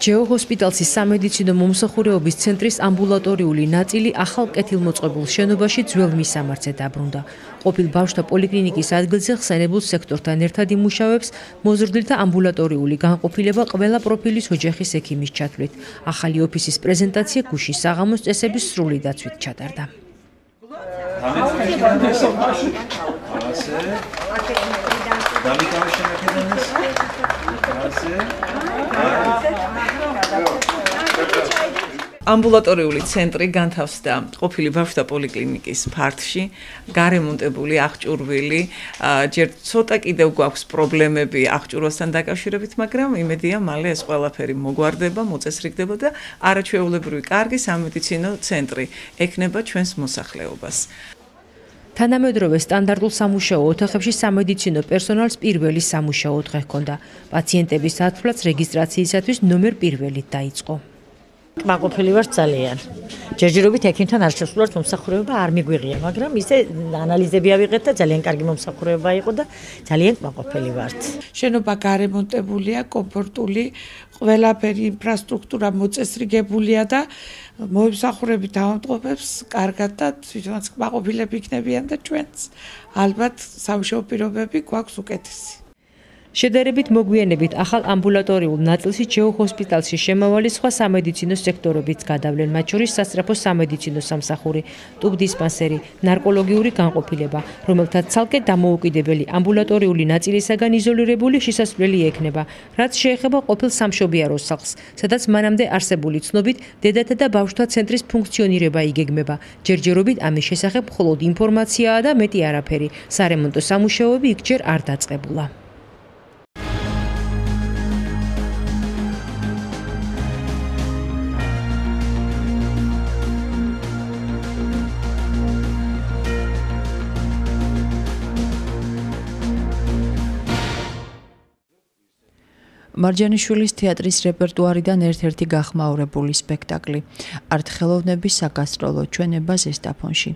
ჯეო ჰოსპიტალსის სამედიცინო მომსახურეობის ცენტრის ამბულატორიული ნაწილი ახალ კეთილმოწყებულ შენობაში ძველ მისამართზე დაბრუნდა. ყოფილ ბავშვთა პოლიკლინიკის ადგილზე ხსენებულ სექტორთან ერთად იმუშავებს მოზრდილთა ამბულატორიული განყოფილება ყველა პროფილის ოჯახის ექიმის ჩათვლით. ახალი ოფისის პრეზენტაცია გუშინ საღამოს წესების სრული დაცვით ჩატარდა. ამბულატორიული ცენტრი განთავსდა ყოფილი ბავშვთა პოლიკლინიკის ფარდში, გარემონტებული, აღჭურვილი, ჯერ ცოტა კიდევ გვაქვს პრობლემები აღჭურვასთან დაკავშირებით, მაგრამ იმედია მალე ეს ყველაფერი მოგვარდება, მოწესრიგდება და არაჩვეულებრივი კარგი სამედიცინო ცენტრი ექნება ჩვენს მოსახლეობას. თანამედროვე სტანდარტულ სამუშაო ოთახებში სამედიცინო პერსონალს პირველი სამუშაო დღე ჰქონდა. პაციენტების ათვლაც რეგისტრაციისათვის ნომერ პირველით დაიწყო. კმაყოფილი ვარ ძალიან. ჯერჯერობით ექიმთან არ შესულვართ მომსახურება არ მიგვიღია, მაგრამ ისე ანალიზები ავიღეთ და ძალიან კარგი მომსახურება იყო და ძალიან კმაყოფილი ვართ. შენობა გარემონტებულია, კომფორტული, ყველაფერი ინფრასტრუქტურა მოწესრიგებულია და მომსახურებით ავადმყოფებს კარგად და თვითონაც კმაყოფილები იქნებიან და ჩვენც ალბათ სამუშაო პირობები გვაქვს უკეთესი. შედარებით მოგვიანებით ახალ ამბულატორიულ ნაწილში ჯეო ჰოსპიტალში შემავალი სხვა სამედიცინო სექტორებიც გადავლენ, მათ შორის სასწრაფო სამედიცინო სამსახური, ტუბდისპანსერი, ნარკოლოგიური განყოფილება, რომელთაც ცალკე დამოუკიდებელი ამბულატორიული ნაწილისაგან იზოლირებული შესასვლელი ექნება, რაც შეეხება ყოფილ სამშობიარო სახლს, სადაც მანამდე არსებული ცნობით დედათა და ბავშვთა ცენტრის ფუნქციონირება იგეგმება. ჯერჯერობით ამის შესახებ მხოლოდ ინფორმაციაა და მეტი არაფერი. სარემონტო სამუშაოები იქ ჯერ არ დაწყებულა. მარჯანიშვილის თეატრის რეპერტუარიდან ერთ-ერთი გახმაურებული სპექტაკლი არტ-ხელოვნების საგასტროლო ჩვენება ზესტაფონში.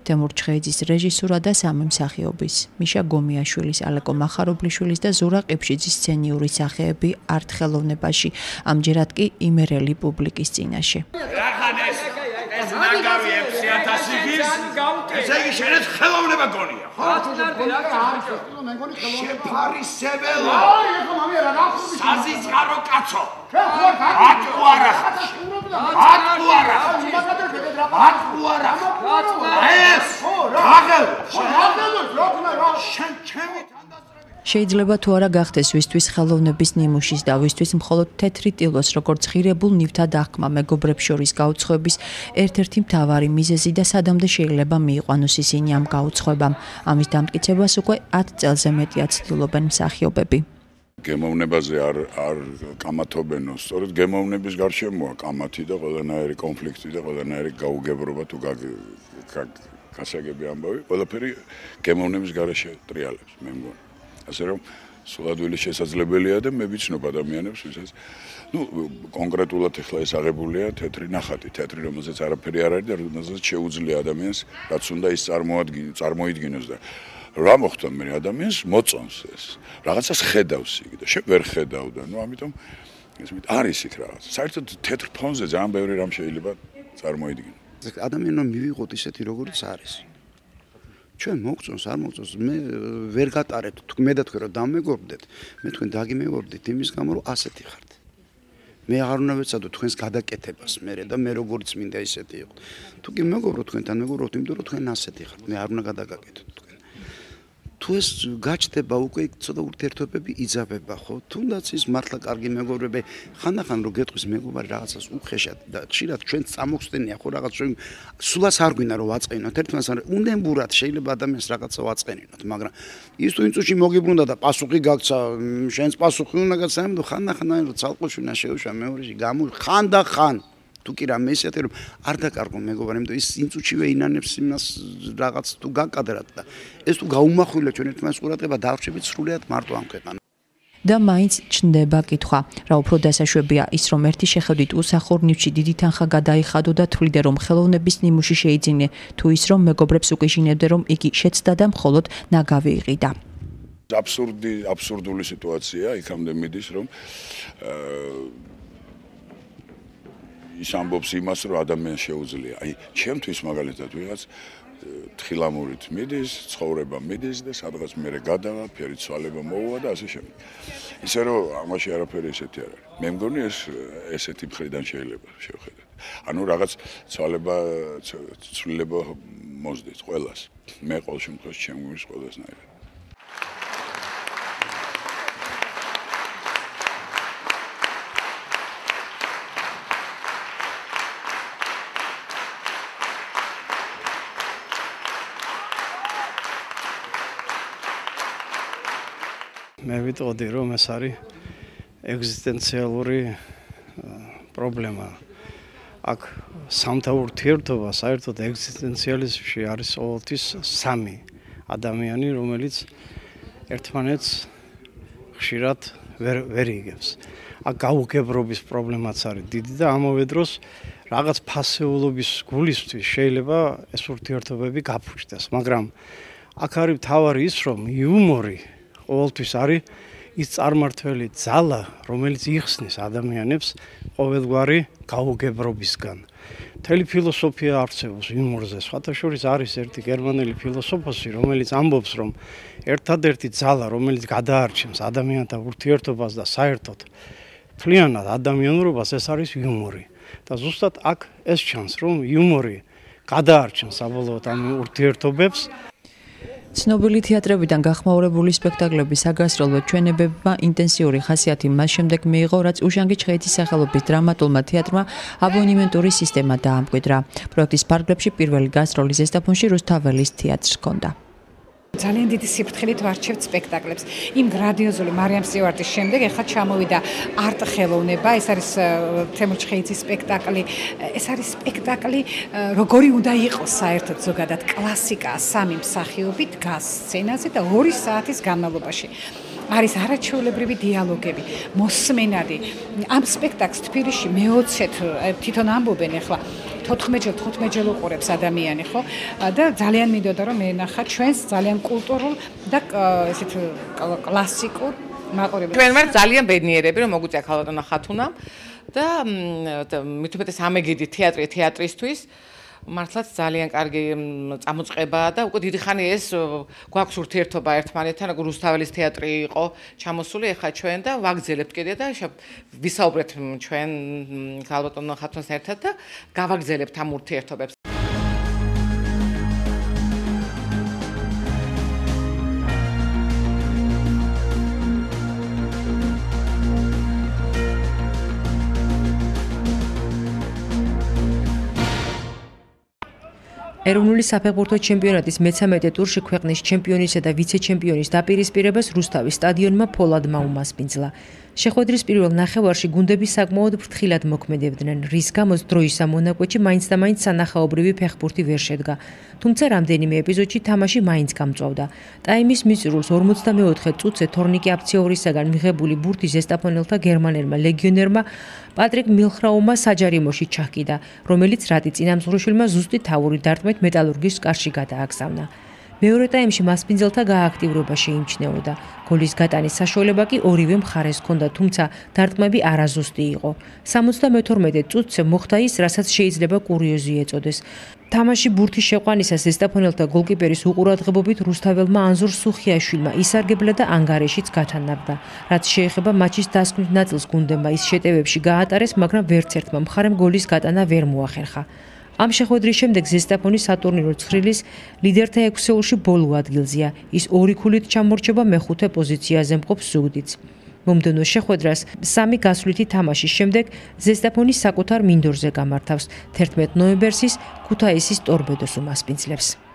თემურ ჩხეიძის რეჟისურა და სამი მსახიობის მიშა გომიაშვილის, ალეკო მახარობლიშვილის და ზურა ყიფშიძის სცენიური სახეები არტ-ხელოვნებაში, ამჯერად კი იმერელი პუბლიკის წინაშე. ეს ნაგავი 6000 ის ესე იგი შენც ხელოვნება გონია, ხო? შეფარისებელო. საზიწყარო კაცო. ატყუარა. ეს რაგელ. შენ ჩემი შეიძლება თუ არა გახდეს ვისთვის ხელოვნების ნიმუშის და ვისთვის მხოლოდ თეთრი ტილოს როგორც ღირებულ ნივთად აღქმა მეგობრებს შორის გაუცხოების ერთ-ერთი მთავარი მიზეზი და სადამდე შეიძლება მიიყვანოს ისინი ამ გაუცხოებამ. ამის დამტკიცებას უკვე 10 წელზე მეტია ცდილობენ მსახიობები. გემოვნებაზე არ კამათობენო, სწორედ გემოვნების გარშემოა კამათი და ყველანაირი კონფლიქტი და ყველანაირი გაუგებრობა თუ გასაგები ამბავი, ყველაფერი გემოვნების გარეშე ტრიალებს, მე მგონი. ასე რომ სულადვილი შესაძლებელია და მე ვიცნობ ადამიანებს, ვისაც კონკრეტულად ახლა ეს აღებულია თეთრი ნახატი, თეთრი რომელზეც არაფერი არ არის და რომელზეც შეუძლია ადამიანს რაც უნდა ის წარმოიდგინოს და რა მოხდა მე ადამიანს მოწონს ეს. რაღაცას ხედავს იქ და შე ვერ ხედავდა. ამიტომ არის იქ რაღაც. საერთოდ თეთრ ფონზე ძალიან ბევრი რამ შეიძლება წარმოიდგინო. ადამიანმა მივიღოთ ისეთი როგორც არის. ჩვენ მოგწონს, არ მოგწონს, მე ვერ გატარეთ, მე და თქვენ რომ დამეგობრდეთ, მე თქვენ დაგიმეგობრდით იმის გამო, რომ ასეთი ხართ. მე აღარ უნდა ვეცადო თქვენს გადაკეთებას მე და მე როგორც მინდა ისეთი იყო. თუ კი მეგობრობ თქვენთან მეგობრობთ, იმიტომ რომ თქვენ ასეთი ხართ, მე არ უნდა გადაგაკეთოთ თქვენ. თუ ეს გაჩნდება უკვე ცოტა ურთიერთობები იძაბება, ხო? თუნდაც ის მართლა კარგი მეგობრები, ხანდახან რო გეტყვის მეგობარი რაღაცას უხეშად და ხშირად ჩვენ წამოხსნენია, ხო რაღაც ჩვენ სულაც არ გვინდა რომ ვაწყენოთ ერთმანეთს, უნდენბურად შეიძლება ადამიანს რაღაცა ვაწყენინოთ, მაგრამ ის თუ იმ წუთში მოგიბრუნდა და პასუხი გაქცა, შენს პასუხი უნდა გაქცა, ამიტომ ხანდახან რომ ცალყოშვილა შეუშვა მეორეში ხანდახან თუ კი რამე ისეთი რომ არ დაკარგო მეგობარი, იმიტომ ის იმ წუთშივე ინანებს იმას რაღაც თუ გაკადრად და ეს თუ გაუმახვილა ჩვენ ერთმანეთს ყურადღება დავრჩებით სრულიად მარტო ამ ქვეყანას. და მაინც ჩნდება კითხვა, რა უფრო დასაშვებია ის რომ ერთი შეხედვით უსახურნივში დიდი თანხა გადაიხადო და თვლიდე რომ ხელოვნების ნიმუში შეიძინე, თუ ის რომ მეგობრებს უკიჟინებდე რომ იგი შეცდა და მხოლოდ ნაგავი იყიდა. აბსურდული სიტუაცია იქამდე მიდის რომ ის ამბობს იმას, რომ ადამიანს შეუძლია. აი, ჩემთვის მაგალითად ვიღაც თხილამურით მიდის, ცხოვრება მიდის და სადღაც მერე გადავა, ფერი ცვალება მოუვა და ასე შემდეგ. ისე რომ ამაში არაფერი ესეთი არ არის. მე მგონი ესეთი მხრიდან შეიძლება შევხედოთ. ანუ რაღაც ცვლილება მოსდით ყველას. მე ყოველ შემთხვევაში ჩემ გვრის ყველასნაირად. მე ვიტყოდი რომ ეს არის ეგზისტენციალური პრობლემა. აქ სამთა ურთიერთობა საერთოდ ეგზისტენციალიზმში არის ყოველთვის სამი ადამიანი, რომელიც ერთმანეთს ხშირად ვერ იგებს. აქ გაუგებრობის პრობლემაც არის დიდი და ამავე დროს რაღაც ფასეულობის გულისთვის შეიძლება ეს ურთიერთობები გაფუჭდეს, მაგრამ აქ არის მთავარი ის, რომ იუმორი ყოველთვის არის ის წარმართველი ძალა, რომელიც იხსნის ადამიანებს ყოველგვარი გაუგებრობისგან. მთელი ფილოსოფია არსებობს იუმორზე. სხვათა შორის არის ერთი გერმანელი ფილოსოფოსი, რომელიც ამბობს, რომ ერთადერთი ძალა, რომელიც გადაარჩენს ადამიანთა ურთიერთობას და საერთოდ მთლიანად ადამიანურობას, ეს არის იუმორი. და ზუსტად აქ ეს ჩანს, რომ იუმორი გადაარჩენს საბოლოოდ ამ ურთიერთობებს. ცნობილი თეატრებიდან გახმაურებული სპექტაკლების საგასროლო ჩვენებებმა ინტენსიური ხასიათი მას შემდეგ მიიღო, რაც უშანგი ჩხეიძის სახელობის დრამატულმა თეატრმა აბონემენტური სისტემა დაამკვიდრა. პროექტის ფარგლებში პირველი გასტროლი ზესტაფონში რუსთაველის თეატრს ჰქონდა. ძალიან დიდი სიფრთხილით ვარჩევთ სპექტაკლებს. იმ გრანდიოზული მარიამ სტიუარტის შემდეგ ახლა ჩამოვიდა არტ ხელოვნება, ეს არის თემურ ჩხეიძის სპექტაკლი. ეს არის სპექტაკლი, როგორი უნდა იყოს საერთოდ ზოგადად კლასიკა, სამი მსახიობი დგას სცენაზე და 2 საათის განმავლობაში. არის არაჩვეულებრივი დიალოგები, მოსმენადი. ამ სპექტაკლს თბილისში მე-20-ით თვითონ ამბობენ ახლა 14 ჯერ უყურებს ადამიანი, ხო? და ძალიან მინდოდა რომ მენახა ჩვენს ძალიან კულტურულ და ესეთ კლასიკურ მაყურებელს. ჩვენ ვართ ძალიან ბედნიერები რომ მოგვიწია ქალბატონო ხათუნამ და მithumetes ამეგიდი თეატრი თეატრისთვის მართლაც ძალიან კარგი წამოწყებაა და უკვე დიდი ხანი ეს გვაქვს ურთიერთობა ერთმანეთთან, როგორ რუსთაველის თეატრი იყო ჩამოსული, ეხლა ჩვენ და ვაგრძელებთ კიდე და ვისაუბრეთ ჩვენ ქალბატონო ხათუნს ერთად და გავაგრძელებთ ამ ურთიერთობებს. ეროვნული საფეხბურთო ჩემპიონატის მე-13 ტურში ქვეყნის ჩემპიონისა და ვიცე-ჩემპიონის დაპირისპირებას რუსთავის სტადიონმა ფოლადმა უმასპინძლა. შეხვედრის პირველ ნახევარში გუნდები საკმაოდ ფრთხილად მოქმედებდნენ, რის გამოც დროის ამონაკვეთში მაინც და მაინც სანახაობრივი ფეხბურთი ვერ შედგა. თუმცა რამდენიმე ეპიზოდში თამაში მაინც გამწვავდა. ტაიმის მიწურულს 44 წუთზე თორნიკე აფციორისაგან მიღებული ბურთი ზესტაფონელთა გერმანელმა ლეგიონერმა პატრიკ მილხრაუმმა საჯარიმოში ჩაჰკიდა, რომელიც რატი წინამძღვრიშვილმა ზუსტი თავური დარტყმით მეტალურგის კარში გადააგზავნა. მეორე ტაიმში მასპინძელთა გააქტიურება შეიმჩნეოდა. გოლის გატანის საშუალება კი ორივე მხარეს ჰქონდა, თუმცა დარტყმები არაზუსტი იყო. 72 წუთზე მოხდა ის, რასაც შეიძლება კურიოზი ეწოდეს. თამაში ბურთის შეყვანისას ზესტაფონელთა გოლკიპერის უყურადღებობით რუსთაველმა ანზორ სუხიაშვილმა ისარგებლა და ანგარიშიც გათანაბრდა. რაც შეეხება მატჩის დასკვნით ნაწილს გუნდებმა ის შეტევებში გაატარეს, მაგრამ ვერც ერთმა მხარემ გოლის გატანა ვერ მოახერხა. ამ შეხვედრის შემდეგ ზესტაფონი სატურნირო ცხრილის ლიდერთა ექვსეულში ბოლო ადგილზეა. ის 2 ქულით ჩამორჩება მეხუთე პოზიციაზე მყოფ ზუგდიდს. მომდევნო შეხვედრას 3 გასვლითი თამაშის შემდეგ ზესტაფონი საკუთარ მინდორზე გამართავს. 11 ნოემბერს ის ქუთაისის ტორპედოს უმასპინძლებს.